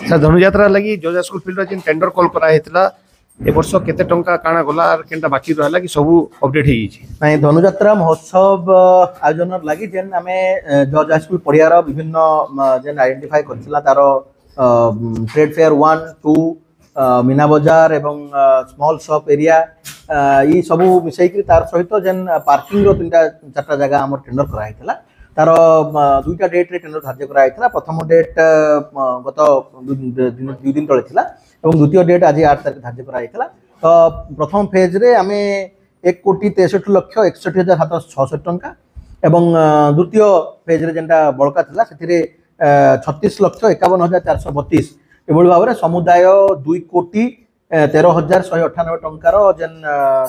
Sir, Dhanuyatra ଲାଗି ଜଜ୍ school fielder ଯେନ୍ ଟେଣ୍ଡର କଲ୍ କରାହେଇଥିଲା, ଏ ବର୍ଷ କେତେ ଟଙ୍କା କାଣା ଗଲା ଆର୍ କେନ୍ଟା ବାକି ରହିଲା କି ସବୁ ଅପଡେଟ୍ ହେଇଯାଇଛି? ନାଇଁ, ଧନୁଯାତ୍ରା ମହୋତ୍ସବ ଆୟୋଜନର ଲାଗି ଯେନ୍ ଆମେ ଜଜ୍ ହାଇସ୍କୁଲ ପଡ଼ିଆର ବିଭିନ୍ନ ଯେନ୍ ଆଇଡେଣ୍ଟିଫାଏ କରିଥିଲା, ତାର ଟ୍ରେଡ୍ ଫେୟାର 1, 2, ମୀନା ବଜାର ଏବଂ ସ୍ମଲ୍ ସପ୍ ଏରିଆ, ଇ ସବୁ ମିଶେଇକିରି ତାର ସହିତ ଯେନ୍ ପାର୍କିଂର ତିନିଟା ଚାରିଟା ଜାଗା ଆମର ଟେଣ୍ଡର କରାହେଇଥିଲା। ତାର ଦୁଇଟା ଡେଟ୍ରେ ଟେଣ୍ଡର ଧାର୍ଯ୍ୟ କରାଯାଇଥିଲା। ପ୍ରଥମ ଡେଟ୍ ଗତ 2 ଦିନ ତଳେ ଥିଲା ଏବଂ ଦ୍ୱିତୀୟ ଡେଟ୍ ଆଜି 8 ତାରିଖ ଧାର୍ଯ୍ୟ କରାଯାଇଥିଲା। ତ ପ୍ରଥମ ଫେଜ୍ରେ ଆମେ 1,63,61,766 ଟଙ୍କା ଏବଂ ଦ୍ୱିତୀୟ ଫେଜ୍ରେ ଯେନ୍ଟା ବଳକା ଥିଲା, ସେଥିରେ 36,51,432, ଏଭଳି ଭାବରେ ସମୁଦାୟ 2,13,198 ଟଙ୍କାର ଯେନ୍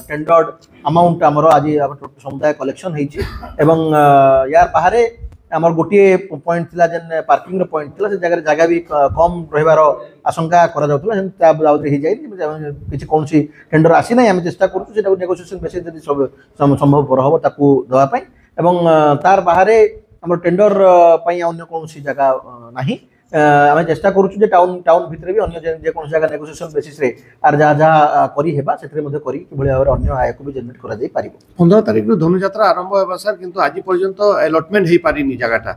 ଟେଣ୍ଡର୍ଡ ଆମାଉଣ୍ଟ ଆମର ଆଜି ଆମର ସମୁଦାୟ କଲେକ୍ସନ୍ ହେଇଛି। ଏବଂ ୟାର ବାହାରେ ଆମର ଗୋଟିଏ ପଏଣ୍ଟ ଥିଲା, ଯେନ୍ ପାର୍କିଂର ପଏଣ୍ଟ ଥିଲା, ସେ ଜାଗାରେ ଜାଗା ବି କମ୍ ରହିବାର ଆଶଙ୍କା କରାଯାଉଥିଲା। ସେମିତି ତା ବାବଦରେ ହେଇଯାଇନି, କିଛି କୌଣସି ଟେଣ୍ଡର ଆସିନାହିଁ। ଆମେ ଚେଷ୍ଟା କରୁଛୁ ସେଟାକୁ ନେଗୋସିଏସନ୍ ବେସିସ୍ ଯଦି ସବୁ ସମ୍ଭବପର ହେବ ତାକୁ ଦେବା ପାଇଁ। ଏବଂ ତାର ବାହାରେ ଆମର ଟେଣ୍ଡର ପାଇଁ ଅନ୍ୟ କୌଣସି ଜାଗା ନାହିଁ। ଆମେ ଚେଷ୍ଟା କରୁଛୁ ଯେ ଟାଉନ ଭିତରେ ବି ଅନ୍ୟ ଯେକୌଣସି ଜାଗା ନେଗୋସିଏସନ୍ ବେସିସ୍ରେ ଆର ଯାହା ଯାହା କରିହେବା, ସେଥିରେ ମଧ୍ୟ କରି କିଭଳି ଭାବରେ ଅନ୍ୟ ଆୟକୁ ବି ଜେନେରେଟ୍ କରାଯାଇ ପାରିବ। 15 ତାରିଖରୁ ଧନୁଯାତ୍ରା ଆରମ୍ଭ ହେବ ସାର୍, କିନ୍ତୁ ଆଜି ପର୍ଯ୍ୟନ୍ତ ଆଲଟମେଣ୍ଟ ହେଇପାରିନି ଜାଗାଟା।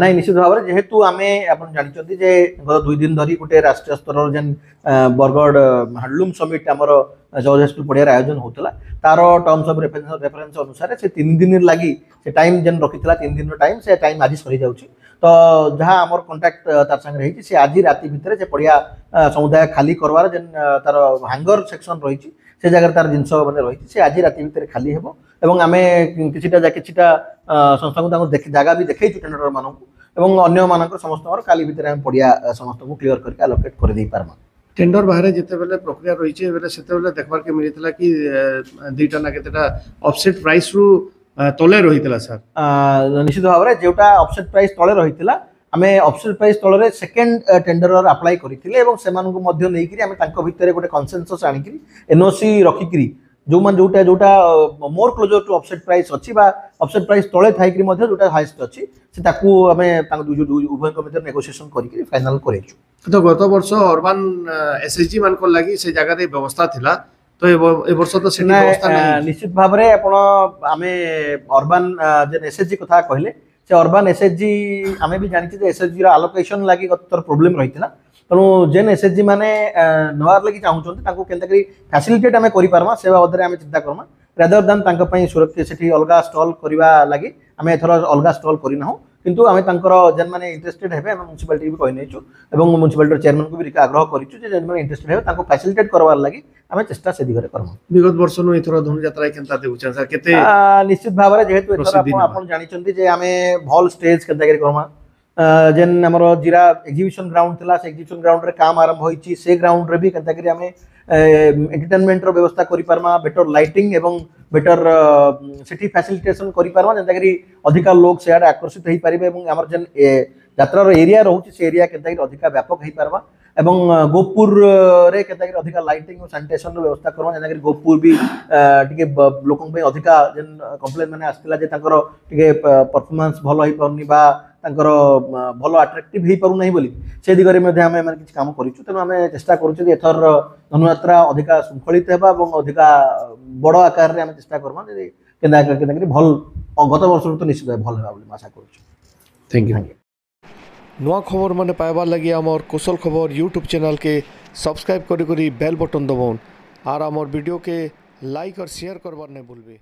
ନାଇଁ, ନିଶ୍ଚିତ ଭାବରେ ଯେହେତୁ ଆମେ ଆପଣ ଜାଣିଛନ୍ତି ଯେ ଗତ 2 ଦିନ ଧରି ଗୋଟେ ରାଷ୍ଟ୍ରୀୟ ସ୍ତରର ଯେନ୍ ବରଗଡ଼ ହ୍ୟାଣ୍ଡଲୁମ୍ ସମିଟ୍ ଆମର ଜଜ୍ ହାଇସ୍କୁଲ ପଡ଼ିଆରେ ଆୟୋଜନ ହେଉଥିଲା, ତାର ଟର୍ମସ୍ ଅଫ୍ ରେଫରେନ୍ସ ଅନୁସାରେ ସେ 3 ଦିନ ଲାଗି ସେ ଟାଇମ୍ ଯେନ୍ ରଖିଥିଲା, 3 ଦିନର ଟାଇମ୍, ସେ ଟାଇମ୍ ଆଜି ସରିଯାଉଛି। ତ ଯାହା ଆମର କଣ୍ଟାକ୍ଟ ତାର ସାଙ୍ଗରେ ହେଇଛି, ସେ ଆଜି ରାତି ଭିତରେ ସେ ପଡ଼ିଆ ସମୁଦାୟ ଖାଲି କରବାର ଯେନ୍ ତାର ହାଙ୍ଗର ସେକ୍ସନ ରହିଛି, ସେ ଜାଗାରେ ତାର ଜିନିଷ ମାନେ ରହିଛି, ସେ ଆଜି ରାତି ଭିତରେ ଖାଲି ହେବ। ଏବଂ ଆମେ କିଛିଟା ସଂସ୍ଥାକୁ ତାଙ୍କୁ ଦେଖି ଜାଗା ବି ଦେଖେଇଛୁ, ଟେଣ୍ଡର ମାନଙ୍କୁ ଏବଂ ଅନ୍ୟମାନଙ୍କର ସମସ୍ତଙ୍କର କାଲି ଭିତରେ ଆମେ ପଡ଼ିଆ ସମସ୍ତଙ୍କୁ କ୍ଲିୟର କରିକି ଆଲୋକେଟ୍ କରିଦେଇ ପାରମା। ଟେଣ୍ଡର ବାହାରେ ଯେତେବେଳେ ପ୍ରକ୍ରିୟା ରହିଛି ବେଲେ, ସେତେବେଳେ ଦେଖବାର୍କେ ମିଳିଥିଲା କି ଦୁଇଟା ନା କେତେଟା ଅଫସେଟ୍ ପ୍ରାଇସ୍ରୁ ତଲେ ରହିଥିଲା ସାର୍। ନିଶ୍ଚିତ ଭାବରେ ଯେଉଁଟା ଅଫସେଟ୍ ପ୍ରାଇସ୍ ତଳେ ରହିଥିଲା, ଆମେ ଅଫସେଟ୍ ପ୍ରାଇସ୍ ତଳରେ ସେକେଣ୍ଡ ଟେଣ୍ଡରର ଆପ୍ଲାଏ କରିଥିଲେ ଏବଂ ସେମାନଙ୍କୁ ମଧ୍ୟ ନେଇକିରି ଆମେ ତାଙ୍କ ଭିତରେ ଗୋଟେ କନସେନସସ୍ ଆଣିକିରି ଏନ୍ଓସି ରଖିକିରି ଯେଉଁମାନେ ଯୋଉଟା more closer to offset price ଅଛି ବା ଅଫସେଟ୍ ପ୍ରାଇସ୍ ତଳେ ଥାଇକିରି ମଧ୍ୟ ଯୋଉଟା ହାଇଏଷ୍ଟ ଅଛି, ସେ ତାକୁ ଆମେ ତାଙ୍କ ଦୁଇ ଉଭୟଙ୍କ ଭିତରେ ନେଗୋସିଏସନ୍ କରିକିରି ଫାଇନାଲ କରେଇଛୁ। ତ ଗତ ବର୍ଷ ଅର୍ବାନ ଏସ୍ଏଚଜି ମାନଙ୍କର ଲାଗି ସେ ଜାଗାରେ ବ୍ୟବସ୍ଥା ଥିଲା, ତ ଏ ବର୍ଷ ତ ସେଠି ବ୍ୟବସ୍ଥା ନାହିଁ। ନିଶ୍ଚିତ ଭାବରେ ଆପଣ ଆମେ ଅର୍ବାନ ଯେନ୍ ଏସ୍ଏଚଜି କଥା କହିଲେ, ସେ ଅର୍ବାନ ଏସ୍ଏଚଜି ଆମେ ବି ଜାଣିଛୁ ଯେ ଏସ୍ଏଚଜିର ଆଲୋକେସନ୍ ଲାଗି ଗତ ଥର ପ୍ରୋବ୍ଲେମ୍ ରହିଥିଲା। ତେଣୁ ଯେନ୍ ଏସ୍ଏଚଜି ମାନେ ନେବାର ଲାଗି ଚାହୁଁଛନ୍ତି, ତାଙ୍କୁ କେନ୍ତା କରି ଫ୍ୟାସିଲିଟେଟ୍ ଆମେ କରିପାରମା, ସେ ବାବଦରେ ଆମେ ଚିନ୍ତା କର୍ମା, ରାଦର ଦାନ୍ ତାଙ୍କ ପାଇଁ ସୁରକ୍ଷା ସେଠି ଅଲଗା ଷ୍ଟଲ୍ କରିବା ଲାଗି ଆମେ ଏଥର ଅଲଗା ଷ୍ଟଲ୍ କରିନାହୁଁ। କିନ୍ତୁ ଆମେ ତାଙ୍କର ଯେନ୍ମାନେ ଇଣ୍ଟରେଷ୍ଟେଡ୍ ହେବେ, ଆମେ ମ୍ୟୁନିସିପାଲିଟି ବି କହିନେଇଛୁ ଏବଂ ମ୍ୟୁନିସିପାଲିଟିର ଚେୟାରମ୍ୟାନକୁ ବି ଆଗ୍ରହ କରିଛୁ ଯେ ଯେନ୍ମାନେ ଇଣ୍ଟରେଷ୍ଟେଡ୍ ହେବେ, ତାଙ୍କୁ ଫ୍ୟାସିଲିଟେଟ୍ କରବାର ଲାଗି ଆମେ ଚେଷ୍ଟା ସେ ଦିଗରେ କର୍ମା। ବିଗତ ବର୍ଷନୁ ଏଥର ଧନୁଯାତ୍ରା କେନ୍ତା ଦେଖୁଛନ୍ ସାର୍, କେତେ ନିଶ୍ଚିତ ଭାବରେ ଯେହେତୁ ଏଥର ପ୍ରସିଦ୍ଧି ଆପଣ ନେବା? ଆପଣ ଜାଣିଛନ୍ତି ଯେ ଆମେ ଭଲ ଷ୍ଟେଜ୍ କେନ୍ତା କରି କର୍ମା, ଯେନ୍ ଆମର ଜିରା ଏକ୍ଜିବିସନ ଗ୍ରାଉଣ୍ଡ ଥିଲା, ସେ ଏକ୍ଜିବିସନ ଗ୍ରାଉଣ୍ଡରେ କାମ ଆରମ୍ଭ ହୋଇଛି। ସେ ଗ୍ରାଉଣ୍ଡରେ ବି କେନ୍ତା କରି ଆମେ ଏଣ୍ଟରଟେନମେଣ୍ଟର ବ୍ୟବସ୍ଥା କରିପାରମା, ବେଟର ଲାଇଟିଂ ଏବଂ ବେଟର ସେଠି ଫ୍ୟାସିଲିଟେସନ କରିପାରମା, ଯେନ୍ତା କରି ଅଧିକା ଲୋକ ସେଆଡ଼େ ଆକର୍ଷିତ ହେଇପାରିବେ ଏବଂ ଆମର ଯେନ୍ ଯାତ୍ରାର ଏରିଆ ରହୁଛି, ସେ ଏରିଆ କେନ୍ତା କରି ଅଧିକା ବ୍ୟାପକ ହେଇପାରବା ଏବଂ ଗୋପୁରରେ କେନ୍ତା କରି ଅଧିକା ଲାଇଟିଂ ଓ ସାନିଟେସନର ବ୍ୟବସ୍ଥା କର୍ମା, ଯେନ୍ତା କରି ଗୋପୁର ବି ଟିକେ ଲୋକଙ୍କ ପାଇଁ ଅଧିକା ଯେନ୍ କମ୍ପ୍ଲେନ୍ ମାନେ ଆସିଥିଲା ଯେ ତାଙ୍କର ଟିକେ ପରଫର୍ମାନ୍ସ ଭଲ ହେଇପାରୁନି ବା ତାଙ୍କର ଭଲ ଆଟ୍ରାକ୍ଟିଭ ହେଇପାରୁନାହିଁ ବୋଲି, ସେ ଦିଗରେ ମଧ୍ୟ ଆମେ ମାନେ କିଛି କାମ କରିଛୁ। ତେଣୁ ଆମେ ଚେଷ୍ଟା କରୁଛୁ ଯେ ଏଥରର ଧନୁଯାତ୍ରା ଅଧିକା ଶୃଙ୍ଖଳିତ ହେବା ଏବଂ ଅଧିକା ବଡ଼ ଆକାରରେ ଆମେ ଚେଷ୍ଟା କର୍ମା ଯେ କେନ୍ତା କେନ୍ତା କରି ଭଲ, ଗତ ବର୍ଷରୁ ତ ନିଶ୍ଚିତ ଭଲ ହେବା ବୋଲି ମୁଁ ଆଶା କରୁଛୁ। Thank you. Thank you. ନୂଆ ଖବର ମାନେ ପାଇବାର୍ ଲାଗି ଆମର କୋଶଲ ଖବର ୟୁଟ୍ୟୁବ୍ ଚ୍ୟାନେଲ୍କେ ସବସ୍କ୍ରାଇବ୍ କରି କରି ବେଲ୍ ବଟନ୍ ଦବାଉନ୍ ଆର୍ ଆମର ଭିଡ଼ିଓକେ ଲାଇକ୍ ଆର୍ ସେୟାର କରବାର୍ ନାଇଁ ଭୁଲବେ।